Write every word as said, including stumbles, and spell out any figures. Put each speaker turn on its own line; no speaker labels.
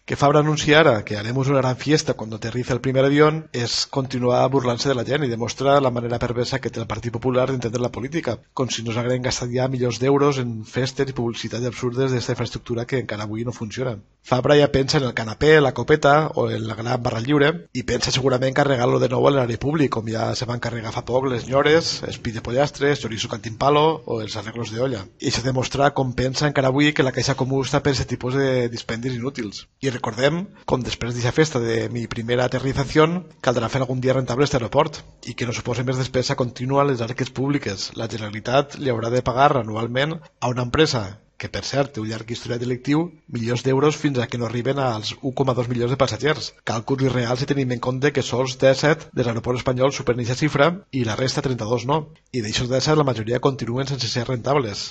Que Fabra anuncia ara que haremos una gran fiesta cuando aterriza el primer avión es continuar burlant-se de la gent i demostra la manera perversa que té el Partit Popular d'entendre la política, com si nos hagueren gastat ja milions d'euros en festes i publicitats absurdes d'esta infraestructura que encara avui no funciona. Fabra ja pensa en el canapé, la copeta o en la gran barra lliure i pensa segurament carregar-lo de nou a l'erari públic, com ja se van carregar fa poc les nyores, espí de pollastres, chorizo cantimpalo o els arreglos de olla. I això demostra com pensa encara avui que la Caixa Comú està per aquest tipus de dispendis inútils. I recordem com després d'aquesta festa de mi primera aterrització caldrà fer algun dia rentable aquest aeroport i que no suposi més despesa contínua a les arques públiques. La Generalitat li haurà de pagar anualment a una empresa que, per cert, té un llarg historial delictiu, milions d'euros fins a que no arriben als un coma dos milions de passatgers. Càlculs irreals si tenim en compte que sols disset dels aeroports espanyols superen aquesta xifra i la resta trenta-dos no. I d'aixòs disset la majoria continuen sense ser rentables.